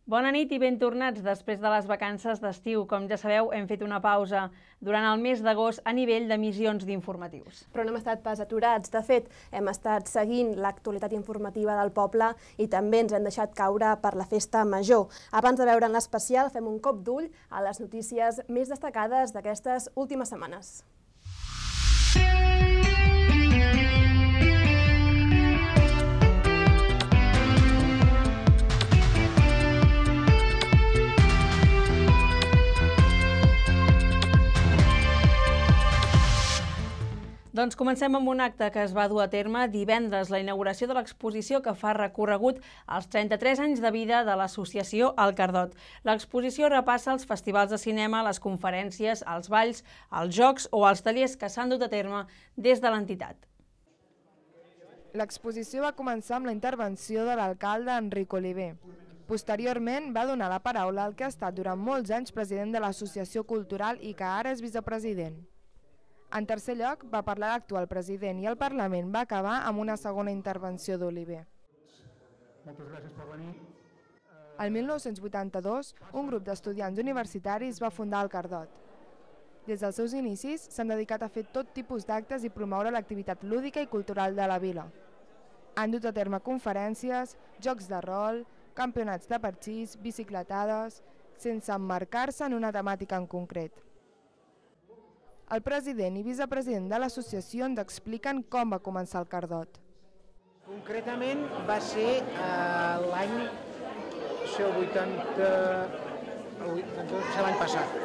Bona nit i ben tornats després de les vacances d'estiu. Com ja sabeu, hem fet una pausa durant el mes d'agost a nivell d'emissions d'informatius. Però no hem estat pas aturats. De fet, hem estat seguint l'actualitat informativa del poble i també ens hem deixat caure per la festa major. Abans de veure en l'especial, fem un cop d'ull a les notícies més destacades d'aquestes últimes setmanes. Doncs comencem amb un acte que es va dur a terme divendres, la inauguració de l'exposició que fa recorregut als 33 anys de vida de l'associació El Cardot. L'exposició repassa els festivals de cinema, les conferències, els balls, els jocs o els tallers que s'han dut a terme des de l'entitat. L'exposició va començar amb la intervenció de l'alcalde Enric Oliver. Posteriorment va donar la paraula al que ha estat durant molts anys president de l'Associació Cultural i que ara és vicepresident. En tercer lloc, va parlar l'actual president i el Parlament va acabar amb una segona intervenció d'Oliver. Moltes gràcies per venir. El 1982, un grup d'estudiants universitaris va fundar el Cardot. Des dels seus inicis, s'han dedicat a fer tot tipus d'actes i promoure l'activitat lúdica i cultural de la vila. Han dut a terme conferències, jocs de rol, campionats de parxís, bicicletades, sense emmarcar-se en una temàtica en concret. El president i vicepresident de l'associació ens expliquen com va començar el Cardot. Concretament va ser l'any 80... l'any passat.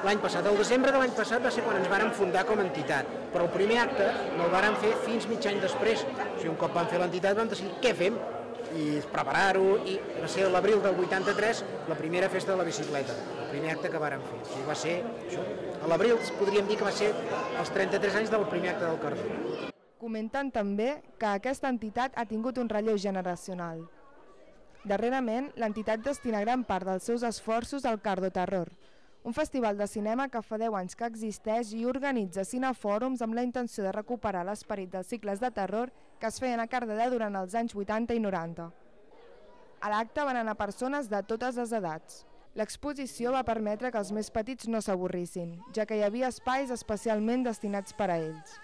L'any passat, el desembre de l'any passat va ser quan ens vàrem fundar com a entitat, però el primer acte no el vàrem fer fins mig any després. O sigui, un cop vam fer l'entitat vam decidir què fem i preparar-ho, i va ser l'abril del 83 la primera festa de la bicicleta, el primer acte que vàrem fer. O sigui, va ser això. A l'abril podríem dir que va ser els 33 anys del primer acte del Cardot. Comenten també que aquesta entitat ha tingut un relleu generacional. Darrerament, l'entitat destina gran part dels seus esforços al Cardoterror, un festival de cinema que fa 10 anys que existeix i organitza cinefòrums amb la intenció de recuperar l'esperit dels cicles de terror que es feien a Cardedeu durant els anys 80 i 90. A l'acte van anar persones de totes les edats. L'exposició va permetre que els més petits no s'avorrissin, ja que hi havia espais especialment destinats per a ells.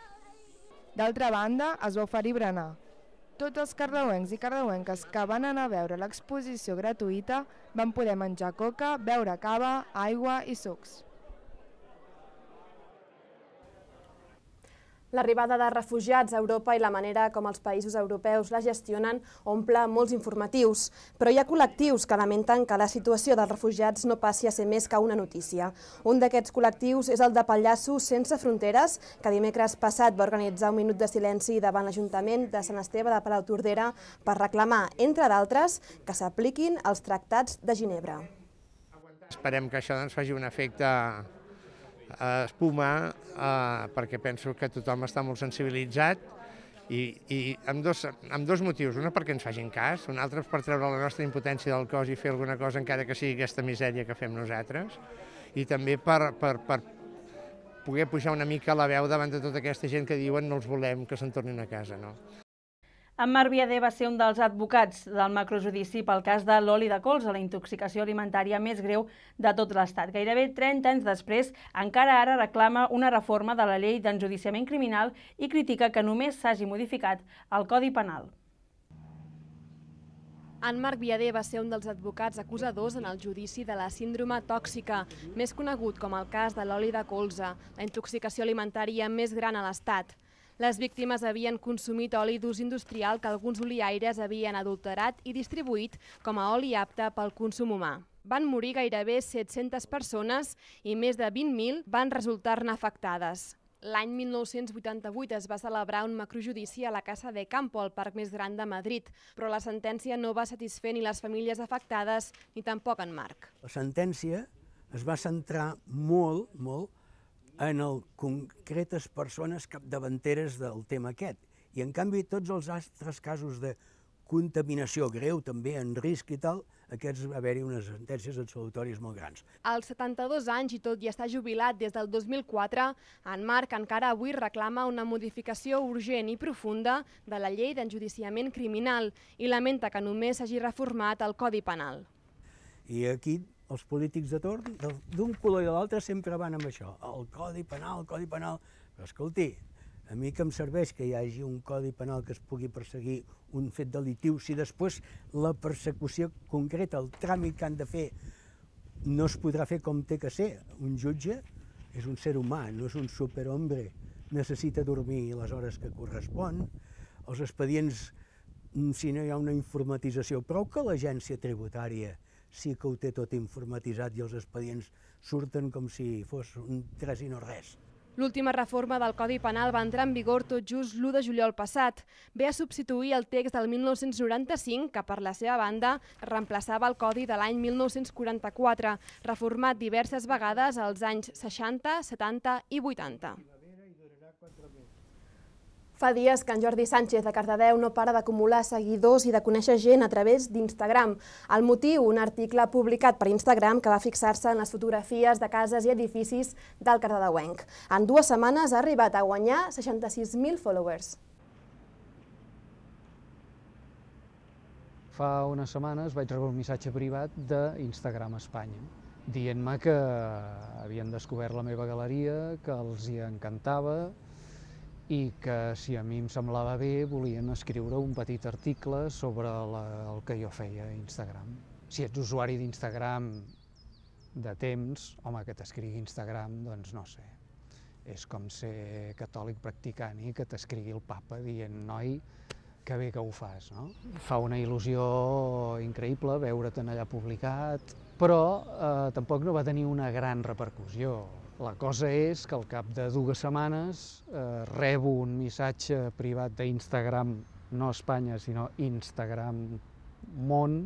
D'altra banda, es va oferir berenar. Tots els cardeuencs i cardeuenques que van anar a veure l'exposició gratuïta van poder menjar coca, beure cava, aigua i sucs. L'arribada de refugiats a Europa i la manera com els països europeus la gestionen omple molts informatius, però hi ha col·lectius que lamenten que la situació dels refugiats no passi a ser més que una notícia. Un d'aquests col·lectius és el de Pallassos Sense Fronteres, que dimecres passat va organitzar un minut de silenci davant l'Ajuntament de Sant Esteve de Palautordera per reclamar, entre d'altres, que s'apliquin els tractats de Ginebra. Esperem que això faci un efecte espuma, perquè penso que tothom està molt sensibilitzat i amb dos motius. Un perquè ens facin cas, un altre per treure la nostra impotència del cos i fer alguna cosa encara que sigui aquesta misèria que fem nosaltres, i també per poder pujar una mica la veu davant de tota aquesta gent que diuen no els volem, que se'n tornin a casa. En Marc Viader va ser un dels advocats del macrojudici pel cas de l'oli de colza, la intoxicació alimentària més greu de tot l'Estat. Gairebé 30 anys després, encara ara reclama una reforma de la llei d'enjudiciament criminal i critica que només s'hagi modificat el Codi Penal. En Marc Viader va ser un dels advocats acusadors en el judici de la síndrome tòxica, més conegut com el cas de l'oli de colza, la intoxicació alimentària més gran a l'Estat. Les víctimes havien consumit oli d'ús industrial que alguns oliaires havien adulterat i distribuït com a oli apte pel consum humà. Van morir gairebé 700 persones i més de 20.000 van resultar-ne afectades. L'any 1988 es va celebrar un macrojudici a la Casa de Campo, el parc més gran de Madrid, però la sentència no va satisfer ni les famílies afectades ni tampoc en Marc. La sentència es va centrar molt en concretes persones capdavanteres del tema aquest. I en canvi tots els altres casos de contaminació greu, també en risc i tal, aquests va haver-hi unes sentències absolutòries molt grans. Als 72 anys i tot i estar jubilat des del 2004, en Marc encara avui reclama una modificació urgent i profunda de la llei d'enjudiciament criminal i lamenta que només s'hagi reformat el Codi Penal. I aquí els polítics de torn, d'un color i de l'altre, sempre van amb això. El Codi Penal, el Codi Penal... Però escolti, a mi que em serveix que hi hagi un Codi Penal que es pugui perseguir un fet delictiu, si després la persecució concreta, el tràmit que han de fer, no es podrà fer com té que ser. Un jutge és un ser humà, no és un superhombre. Necessita dormir les hores que correspon. Els expedients, si no hi ha una informatització, prou que l'agència tributària sí que ho té tot informatitzat i els expedients surten com si fos un tres i no res. L'última reforma del Codi Penal va entrar en vigor tot just l'1 de juliol passat. Ve a substituir el text del 1995, que per la seva banda reemplaçava el Codi de l'any 1944, reformat diverses vegades als anys 60, 70 i 80. Fa dies que en Jordi Sánchez de Cardedeu no para d'acumular seguidors i de conèixer gent a través d'Instagram. El motiu, un article publicat per Instagram que va fixar-se en les fotografies de cases i edificis del cardedeuenc. En 2 setmanes ha arribat a guanyar 66.000 followers. Fa unes setmanes vaig rebre un missatge privat d'Instagram Espanya, dient-me que havien descobert la meva galeria, que els hi encantava, i que si a mi em semblava bé volien escriure un petit article sobre el que jo feia a Instagram. Si ets usuari d'Instagram de temps, home, que t'escrigui Instagram, doncs no sé. És com ser catòlic practicant i que t'escrigui el papa dient, noi, que bé que ho fas, no? Fa una il·lusió increïble veure't allà publicat, però tampoc no va tenir una gran repercussió. La cosa és que al cap de 2 setmanes rebo un missatge privat d'Instagram, no Espanya, sinó Instagram Món,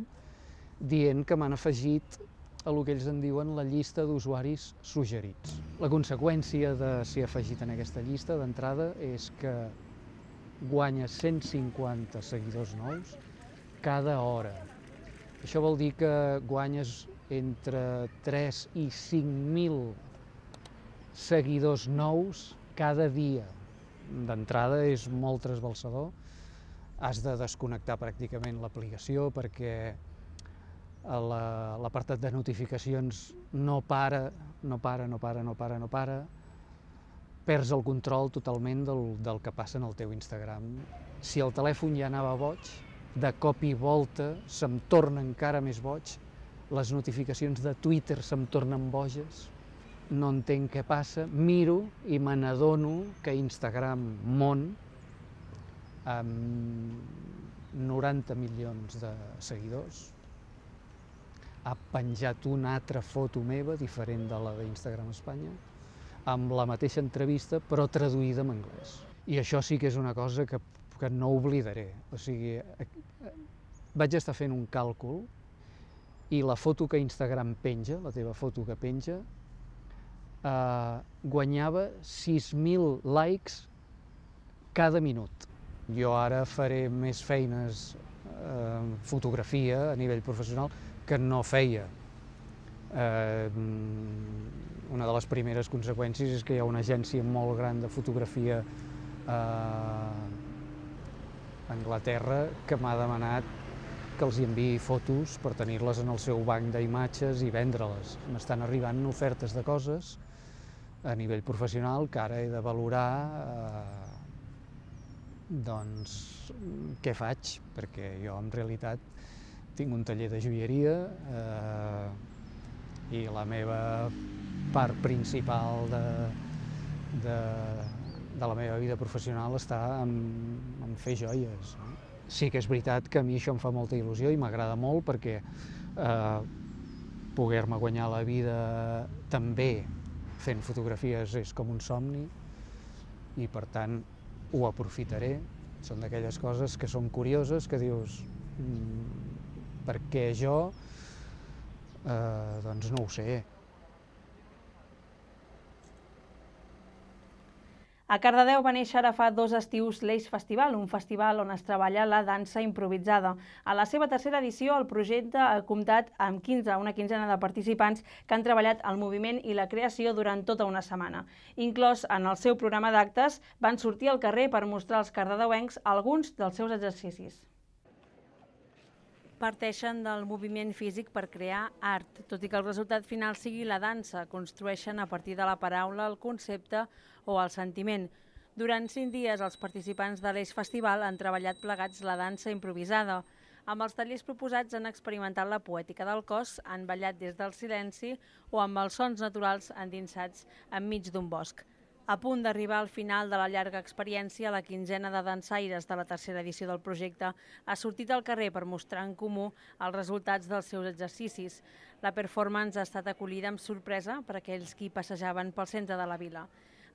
dient que m'han afegit a el que ells en diuen la llista d'usuaris suggerits. La conseqüència de ser afegit en aquesta llista d'entrada és que guanyes 150 seguidors nous cada hora. Això vol dir que guanyes entre 3 i 5.000 seguidors nous cada dia. D'entrada és molt trasbalsador. Has de desconnectar pràcticament l'aplicació perquè l'apartat de notificacions no para. Perds el control totalment del que passa en el teu Instagram. Si el telèfon ja anava boig, de cop i volta se'm torna encara més boig, les notificacions de Twitter se'm tornen boges, no entenc què passa, miro i me n'adono que Instagram Món, amb 90 milions de seguidors, ha penjat una altra foto meva, diferent de la d'Instagram Espanya, amb la mateixa entrevista, però traduïda en anglès. I això sí que és una cosa que no oblidaré. O sigui, vaig estar fent un càlcul i la foto que Instagram penja, la teva foto que penja, guanyava 6.000 likes cada minut. Jo ara faré més feines en fotografia a nivell professional que no feia. Una de les primeres conseqüències és que hi ha una agència molt gran de fotografia a Anglaterra que m'ha demanat que els enviï fotos per tenir-les en el seu banc d'imatges i vendre-les. M'estan arribant ofertes de coses a nivell professional que ara he de valorar doncs què faig, perquè jo en realitat tinc un taller de joieria i la meva part principal de la meva vida professional està en fer joies. Sí que és veritat que a mi això em fa molta il·lusió i m'agrada molt perquè poder-me guanyar la vida també fent fotografies és com un somni i per tant ho aprofitaré. Són d'aquelles coses que són curioses, que dius per què jo? Doncs no ho sé. A Cardedeu va néixer ara fa 2 estius l'Eix Festival, un festival on es treballa la dansa improvisada. A la seva 3a edició, el projecte ha comptat amb una quinzena de participants que han treballat el moviment i la creació durant tota una setmana. Inclòs en el seu programa d'actes, van sortir al carrer per mostrar als cardedeuencs alguns dels seus exercicis. Parteixen del moviment físic per crear art. Tot i que el resultat final sigui la dansa, construeixen a partir de la paraula el concepte o el sentiment. Durant 5 dies, els participants de l'Eix Festival han treballat plegats la dansa improvisada. Amb els tallers proposats han experimentat la poètica del cos, han ballat des del silenci o amb els sons naturals endinsats enmig d'un bosc. A punt d'arribar al final de la llarga experiència, la quinzena de dansaires de la tercera edició del projecte ha sortit al carrer per mostrar en comú els resultats dels seus exercicis. La performance ha estat acollida amb sorpresa per aquells qui passejaven pel centre de la vila.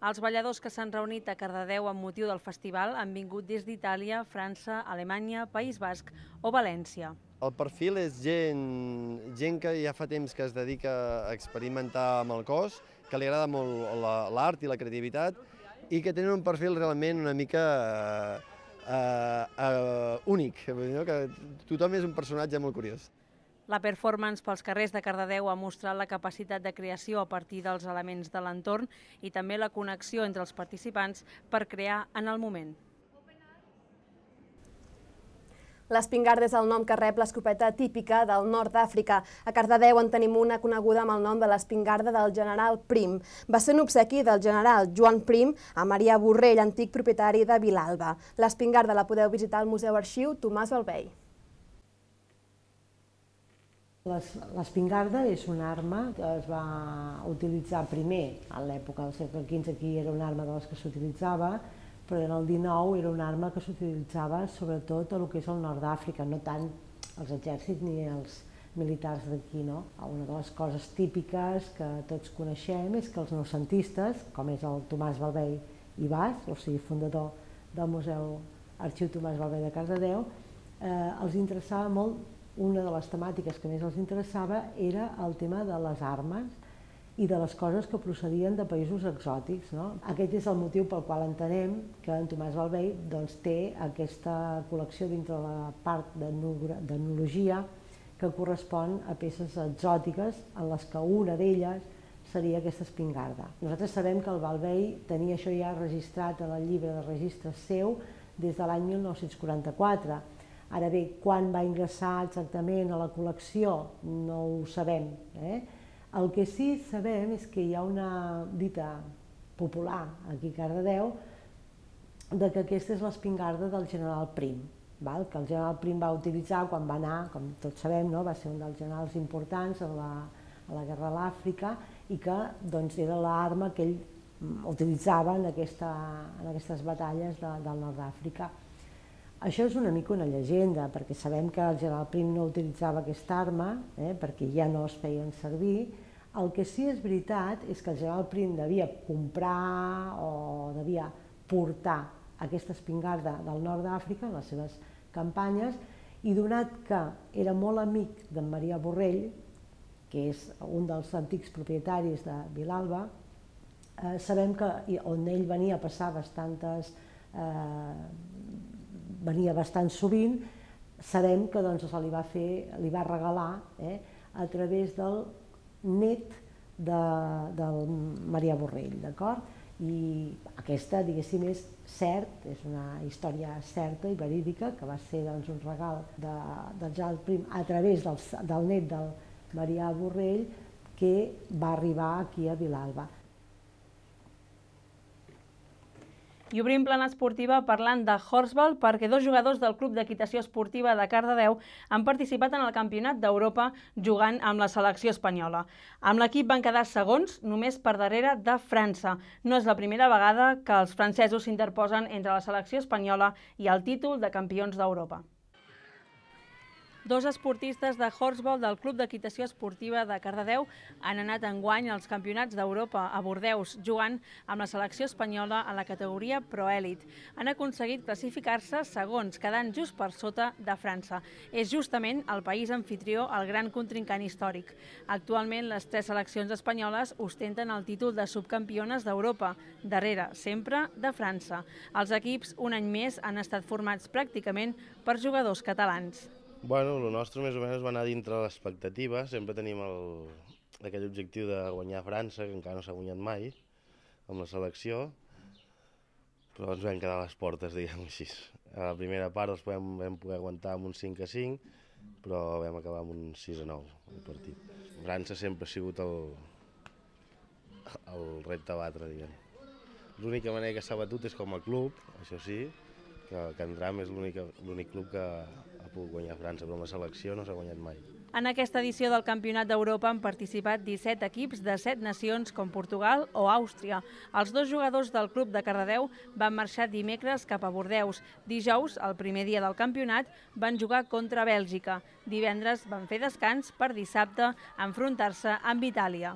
Els balladors que s'han reunit a Cardedeu amb motiu del festival han vingut des d'Itàlia, França, Alemanya, País Basc o València. El perfil és gent que ja fa temps que es dedica a experimentar amb el cos, que li agrada molt l'art i la creativitat i que tenen un perfil realment una mica únic, que tothom és un personatge molt curiós. La performance pels carrers de Cardedeu ha mostrat la capacitat de creació a partir dels elements de l'entorn i també la connexió entre els participants per crear en el moment. L'espingarda és el nom que rep l'escopeta típica del nord d'Àfrica. A Cardedeu en tenim una coneguda amb el nom de l'espingarda del general Prim. Va ser un obsequi del general Joan Prim a Marià Borrell, antic propietari de Vilalba. L'espingarda la podeu visitar al Museu Arxiu Tomàs Balvei. L'espingarda és una arma que es va utilitzar primer, a l'època del segle XV aquí era una arma de les que s'utilitzava, però en el XIX era una arma que s'utilitzava sobretot a el que és el nord d'Àfrica, no tant els exèrcits ni els militars d'aquí. Una de les coses típiques que tots coneixem és que els noucentistes, com és el Tomàs Balvei i Bas, o sigui, fundador del Museu Arxiu Tomàs Balvei de Cardedeu, els interessava molt. Una de les temàtiques que més els interessava era el tema de les armes i de les coses que procedien de països exòtics. Aquest és el motiu pel qual entenem que en Tomàs Balvei té aquesta col·lecció dintre la part d'etnologia que correspon a peces exòtiques en les que una d'elles seria aquesta espingarda. Nosaltres sabem que el Balvei tenia això ja registrat en el llibre de registres seu des de l'any 1944. Ara bé, quan va ingressar exactament a la col·lecció no ho sabem. El que sí sabem és que hi ha una dita popular aquí a Cardedeu que aquesta és l'espingarda del general Prim, que el general Prim va utilitzar quan va anar, com tots sabem, va ser un dels generals importants a la guerra a l'Àfrica i que era l'arma que ell utilitzava en aquestes batalles del nord d'Àfrica. Això és una mica una llegenda, perquè sabem que el general Prim no utilitzava aquesta arma, perquè ja no es feien servir. El que sí és veritat és que el general Prim devia comprar o devia portar aquesta espingarda del nord d'Àfrica en les seves campanyes i donat que era molt amic d'en Marià Borrell, que és un dels antics propietaris de Vilalba, sabem que on ell venia a passar venia bastant sovint, sabem que se li va regalar a través del net del Marià Borrell, d'acord? I aquesta, diguéssim, és cert, és una història certa i verídica, que va ser un regal del general Prim a través del net del Marià Borrell que va arribar aquí a Vilalba. I obrim plana esportiva parlant de Horsball perquè 2 jugadors del Club d'Equitació Esportiva de Cardedeu han participat en el Campionat d'Europa jugant amb la selecció espanyola. Amb l'equip van quedar segons, només per darrere de França. No és la primera vegada que els francesos s'interposen entre la selecció espanyola i el títol de campions d'Europa. 2 esportistes de Horsball del Club d'Equitació Esportiva de Cardedeu han anat enguany als Campionats d'Europa a Bordeus, jugant amb la selecció espanyola a la categoria Proèlit. Han aconseguit classificar-se segons, quedant just per sota de França. És justament el país amfitrió el gran contrincant històric. Actualment, les 3 seleccions espanyoles ostenten el títol de subcampiones d'Europa, darrere, sempre, de França. Els equips, un any més, han estat formats pràcticament per jugadors catalans. Bueno, el nostre més o menys va anar dintre l'expectativa, sempre tenim aquell objectiu de guanyar França, que encara no s'ha guanyat mai, amb la selecció, però ens vam quedar a les portes, diguem-ho així. A la primera part vam poder aguantar amb un 5-5, però vam acabar amb un 6-9 el partit. França sempre ha sigut el repte a batre, diguem. L'única manera que s'ha batut és com a club, això sí, que Can Tram és l'únic club que ha pogut guanyar França, però amb la selecció no s'ha guanyat mai. En aquesta edició del Campionat d'Europa han participat 17 equips de 7 nacions com Portugal o Àustria. Els 2 jugadors del club de Cardedeu van marxar dimecres cap a Bordeus. Dijous, el primer dia del campionat, van jugar contra Bèlgica. Divendres van fer descans per dissabte enfrontar-se amb Itàlia.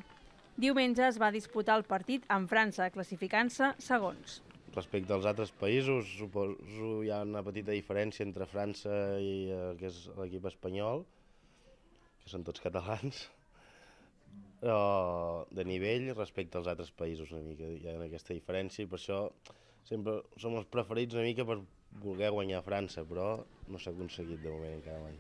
Diumenge es va disputar el partit amb França, classificant-se segons. Respecte als altres països, suposo hi ha una petita diferència entre França i l'equip espanyol, que són tots catalans, però de nivell respecte als altres països una mica hi ha aquesta diferència i per això sempre som els preferits una mica per voler guanyar França, però no s'ha aconseguit de moment encara mai.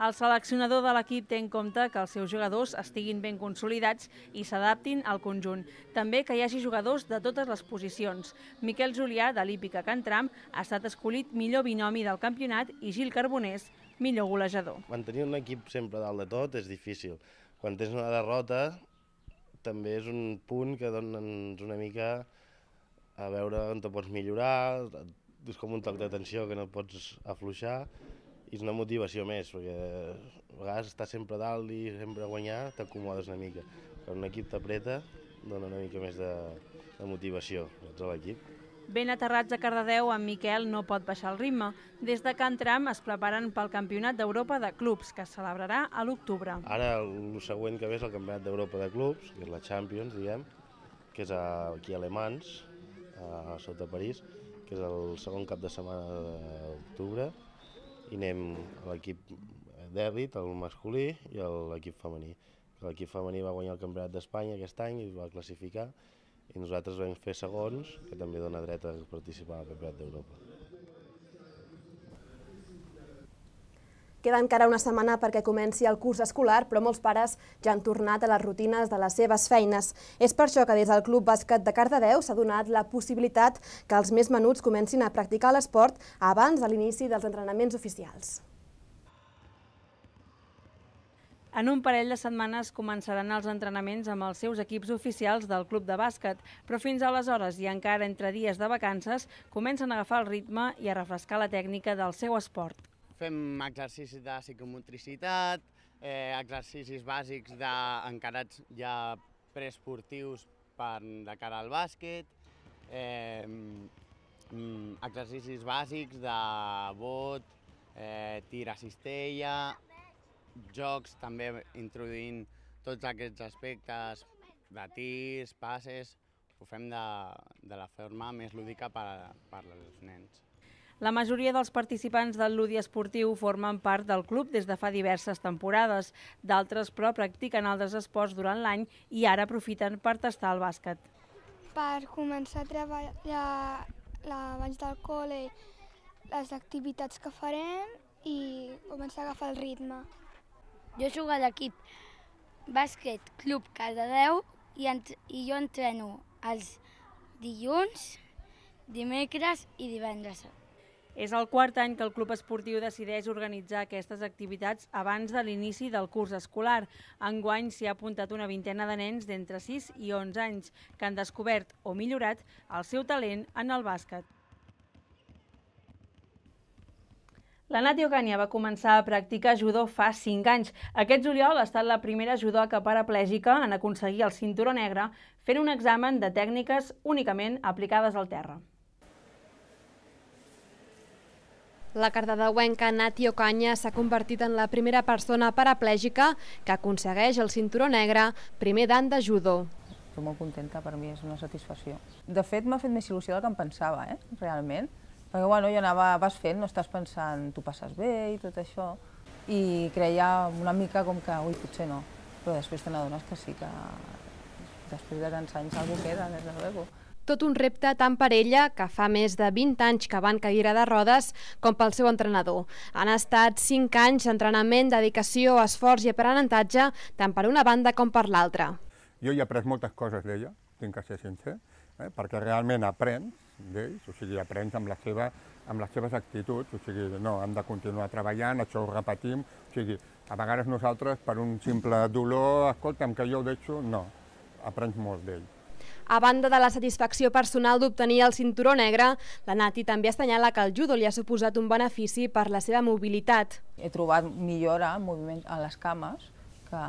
El seleccionador de l'equip té en compte que els seus jugadors estiguin ben consolidats i s'adaptin al conjunt. També que hi hagi jugadors de totes les posicions. Miquel Julià, de l'Hípica Can Tram, ha estat escollit millor binomi del campionat i Gil Carbonés, millor golejador. Mantenir un equip sempre dalt de tot és difícil. Quan tens una derrota també és un punt que dona'ns una mica a veure on te pots millorar, és com un toc d'atenció que no pots afluixar i és una motivació més, perquè a vegades estar sempre dalt i sempre guanyar t'acomodes una mica. Quan un equip t'apreta dona una mica més de motivació a l'equip. Ben aterrats a Cardedeu, en Miquel no pot baixar el ritme. Des de Can Tram es preparen pel Campionat d'Europa de Clubs, que es celebrarà a l'octubre. Ara el següent que ve és el Campionat d'Europa de Clubs, que és la Champions, diguem, que és aquí a Le Mans, a sota París, que és el segon cap de setmana d'octubre, i anem a l'equip d'èlit, el masculí, i a l'equip femení. L'equip femení va guanyar el Campionat d'Espanya aquest any i es va classificar, i nosaltres vam fer segons, que també dona dret a participar al Campionat d'Europa. Queda encara una setmana perquè comenci el curs escolar, però molts pares ja han tornat a les rutines de les seves feines. És per això que des del Club Bàsquet de Cardedeu s'ha donat la possibilitat que els més menuts comencin a practicar l'esport abans de l'inici dels entrenaments oficials. En un parell de setmanes començaran els entrenaments amb els seus equips oficials del club de bàsquet, però fins aleshores i encara entre dies de vacances comencen a agafar el ritme i a refrescar la tècnica del seu esport. Fem exercicis de psicomotricitat, exercicis bàsics encarats ja preesportius de cara al bàsquet, exercicis bàsics de bot, tir a cistella, jocs també introduint tots aquests aspectes de tirs, passes, ho fem de la forma més lúdica per als nens. La majoria dels participants del Ludi Esportiu formen part del club des de fa diverses temporades. D'altres, però, practiquen altres esports durant l'any i ara aprofiten per tastar el bàsquet. Per començar a treballar abans del col·le les activitats que farem i començar a agafar el ritme. Jo jugo a l'equip bàsquet Club Cardedeu i jo entreno els dilluns, dimecres i divendres. És el quart any que el club esportiu decideix organitzar aquestes activitats abans de l'inici del curs escolar. Enguany s'hi ha apuntat una vintena de nens d'entre 6 i 11 anys que han descobert o millorat el seu talent en el bàsquet. La Nati Ocaña va començar a practicar judo fa 5 anys. Aquest juliol ha estat la primera judoca paraplègica en aconseguir el cinturó negre fent un examen de tècniques únicament aplicades al terra. La cardedeuenca Nati Ocaña s'ha convertit en la primera persona paraplègica que aconsegueix el cinturó negre primer dan de judo. Estic molt contenta, per mi és una satisfacció. De fet, m'ha fet més il·lusió del que em pensava, realment. Perquè bueno, vas fent, no estàs pensant, tu passes bé i tot això, i creia una mica com que, ui, potser no, però després te n'adones que sí, que després de tants anys algú queda, des de luego. Tot un repte tant per ella, que fa més de 20 anys que va en cadira de rodes, com pel seu entrenador. Han estat 5 anys d'entrenament, dedicació, esforç i aprenentatge, tant per una banda com per l'altra. Jo he après moltes coses d'ella, tinc que ser sincer. perquè realment aprens d'ells, o sigui, aprens amb les seves actituds, o sigui, no, hem de continuar treballant, això ho repetim, o sigui, a vegades nosaltres per un simple dolor, escolta'm, que jo ho deixo, no, aprens molt d'ells. A banda de la satisfacció personal d'obtenir el cinturó negre, la Nati també assenyala que el judo li ha suposat un benefici per la seva mobilitat. He trobat millora en moviment a les cames, que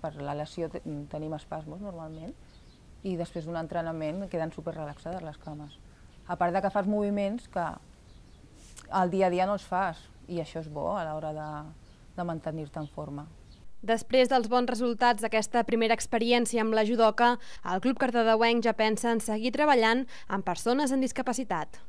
per la lesió tenim espasmos normalment, i després d'un entrenament queden superrelaxades les cames. A part de que fas moviments que al dia a dia no els fas, i això és bo a l'hora de mantenir-te en forma. Després dels bons resultats d'aquesta primera experiència amb la judoka, el Club Cardedeuenc ja pensa en seguir treballant amb persones amb discapacitat.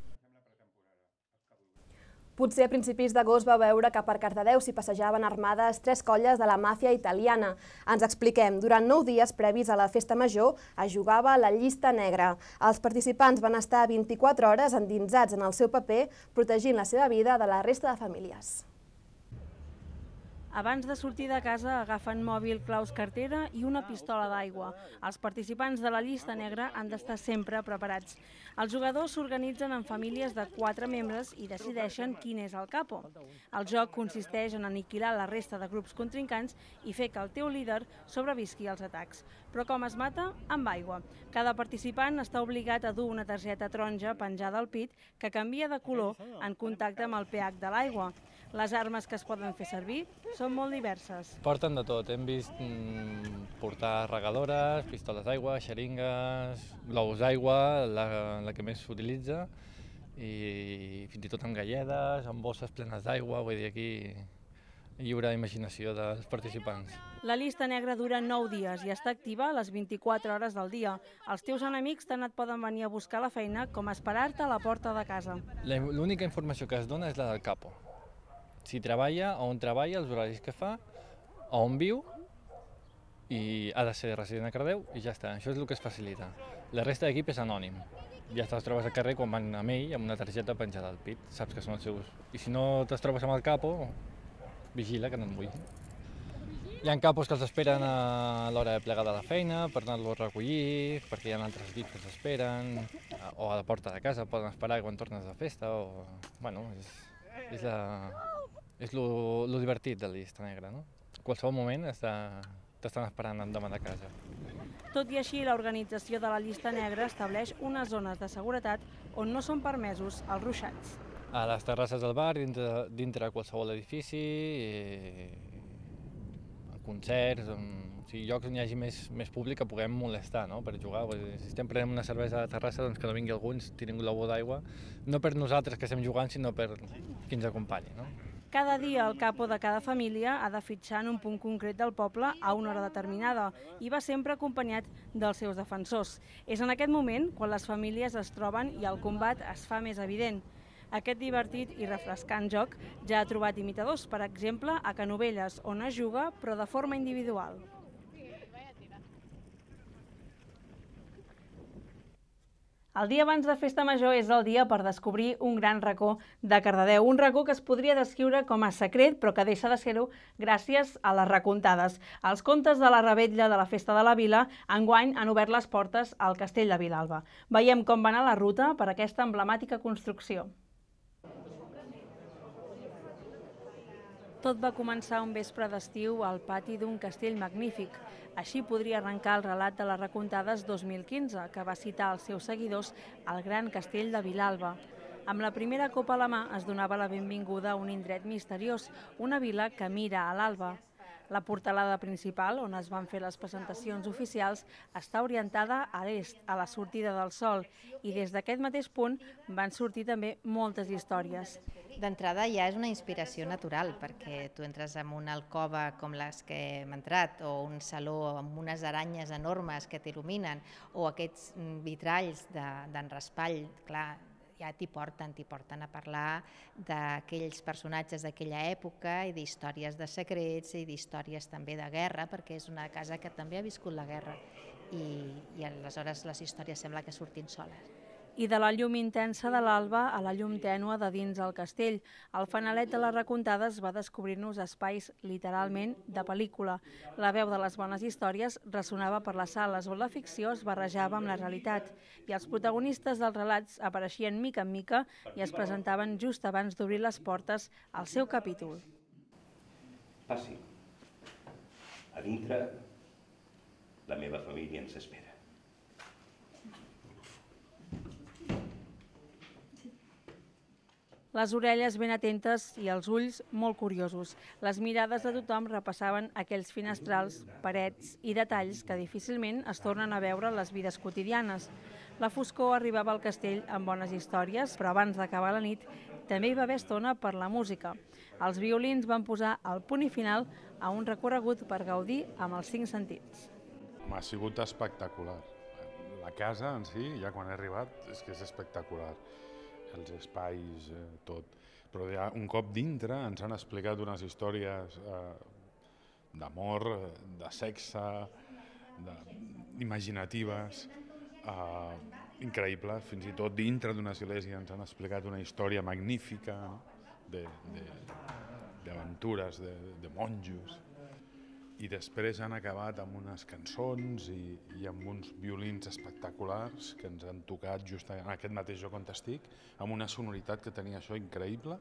Potser a principis d'agost va veure que per Cardedeu s'hi passejaven armades 3 colles de la màfia italiana. Ens expliquem, durant 9 dies previs a la festa major es jugava la llista negra. Els participants van estar 24 hores endinsats en el seu paper, protegint la seva vida de la resta de famílies. Abans de sortir de casa agafen mòbil, claus, cartera i una pistola d'aigua. Els participants de la llista negra han d'estar sempre preparats. Els jugadors s'organitzen en famílies de 4 membres i decideixen quin és el capo. El joc consisteix en aniquilar la resta de grups contrincants i fer que el teu líder sobrevisqui als atacs. Però com es mata? Amb aigua. Cada participant està obligat a dur una targeta taronja penjada al pit que canvia de color en contacte amb el pH de l'aigua. Les armes que es poden fer servir són molt diverses. Porten de tot. Hem vist portar regadores, pistoles d'aigua, xeringues, globus d'aigua, la que més s'utilitza, i fins i tot amb galledes, amb bosses plenes d'aigua, vull dir, aquí lliure imaginació dels participants. La llista negra dura 9 dies i està activa a les 24 hores del dia. Els teus enemics tant et poden venir a buscar a la feina com esperar-te a la porta de casa. L'única informació que es dona és la del capo. Si treballa, on treballa, els horaris que fa, on viu, i ha de ser resident a Cardedeu, i ja està. Això és el que es facilita. La resta d'equip és anònim. Ja te'ls trobes al carrer quan van amb ell, amb una targeta penjada al pit. Saps que són els seus. I si no te'ls trobes amb el capo, vigila que no et mulli. Hi ha capos que els esperen a l'hora de plegar de la feina per anar-los a recollir, perquè hi ha altres equips que els esperen, o a la porta de casa poden esperar quan tornes de festa, o... Bueno, és lo divertit de la llista negra, no? En qualsevol moment t'estan esperant endavant de casa. Tot i així, l'organització de la llista negra estableix unes zones de seguretat on no són permesos els ruixats. A les terrasses del bar, dintre qualsevol edifici, en concerts, llocs on hi hagi més públic que puguem molestar per jugar. Si estem prenent una cervesa a la terrassa, doncs que no vingui algú, ens tiri un globo d'aigua, no per nosaltres que estem jugant, sinó per qui ens acompanyi. Cada dia el capo de cada família ha de fitxar en un punt concret del poble a una hora determinada i va sempre acompanyat dels seus defensors. És en aquest moment quan les famílies es troben i el combat es fa més evident. Aquest divertit i refrescant joc ja ha trobat imitadors, per exemple, a Canovelles, on es juga, però de forma individual. El dia abans de Festa Major és el dia per descobrir un gran racó de Cardedeu, un racó que es podria descriure com a secret, però que deixa de ser-ho gràcies a les recontades. Els contes de la revetlla de la Festa de la Vila enguany han obert les portes al Castell de Vilalba. Veiem com va anar la ruta per aquesta emblemàtica construcció. Tot va començar un vespre d'estiu al pati d'un castell magnífic. Així podria arrencar el relat de les recontades 2015, que va citar als seus seguidors al gran castell de Vilalba. Amb la primera copa a la mà es donava la benvinguda a un indret misteriós, una vila que mira a l'alba. La portalada principal, on es van fer les presentacions oficials, està orientada a l'est, a la sortida del sol, i des d'aquest mateix punt van sortir també moltes històries. D'entrada ja és una inspiració natural, perquè tu entres en una alcova com les que hem entrat, o un saló amb unes aranyes enormes que t'il·luminen, o aquests vitralls d'en Raspall, clar, ja t'hi porten a parlar d'aquells personatges d'aquella època i d'històries de secrets i d'històries també de guerra, perquè és una casa que també ha viscut la guerra i aleshores les històries sembla que surtin soles. I de la llum intensa de l'alba a la llum tènua de dins el castell. El fanalet de les recontades va descobrir-nos espais literalment de pel·lícula. La veu de les bones històries ressonava per les sales on la ficció es barrejava amb la realitat i els protagonistes dels relats apareixien mica en mica i es presentaven just abans d'obrir les portes al seu capítol. Passi. A dintre, la meva família ens espera. Les orelles ben atentes i els ulls molt curiosos. Les mirades de tothom repassaven aquells finestrals, parets i detalls que difícilment es tornen a veure en les vides quotidianes. La foscor arribava al castell amb bones històries, però abans d'acabar la nit també hi va haver estona per la música. Els violins van posar el punt i final a un recorregut per gaudir amb els 5 sentits. Ha sigut espectacular. La casa en si, ja quan he arribat, és que és espectacular. Els espais, tot. Però ja un cop dintre ens han explicat unes històries d'amor, de sexe, imaginatives, increïbles. Fins i tot dintre d'una església ens han explicat una història magnífica d'aventures, de monjos. I després han acabat amb unes cançons i amb uns violins espectaculars que ens han tocat just en aquest mateix lloc on estic, amb una sonoritat que tenia això increïble.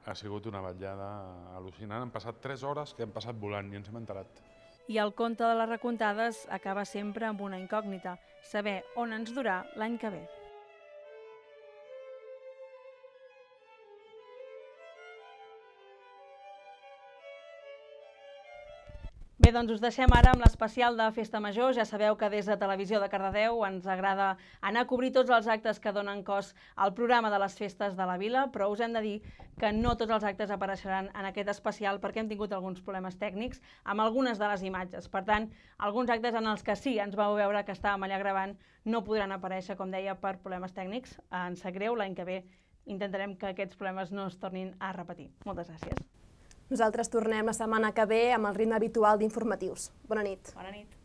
Ha sigut una vetllada al·lucinant. Han passat 3 hores que hem passat volant i ens hem enterat. I el conte de les recontades acaba sempre amb una incògnita, saber on ens durà l'any que ve. Bé, doncs us deixem ara amb l'especial de Festa Major. Ja sabeu que des de Televisió de Cardedeu ens agrada anar a cobrir tots els actes que donen cos al programa de les festes de la vila, però us hem de dir que no tots els actes apareixeran en aquest especial perquè hem tingut alguns problemes tècnics amb algunes de les imatges. Per tant, alguns actes en els que sí ens vau veure que estàvem allà gravant no podran aparèixer, com deia, per problemes tècnics. Ens sap greu, l'any que ve intentarem que aquests problemes no es tornin a repetir. Moltes gràcies. Nosaltres tornem la setmana que ve amb el ritme habitual d'informatius. Bona nit. Bona nit.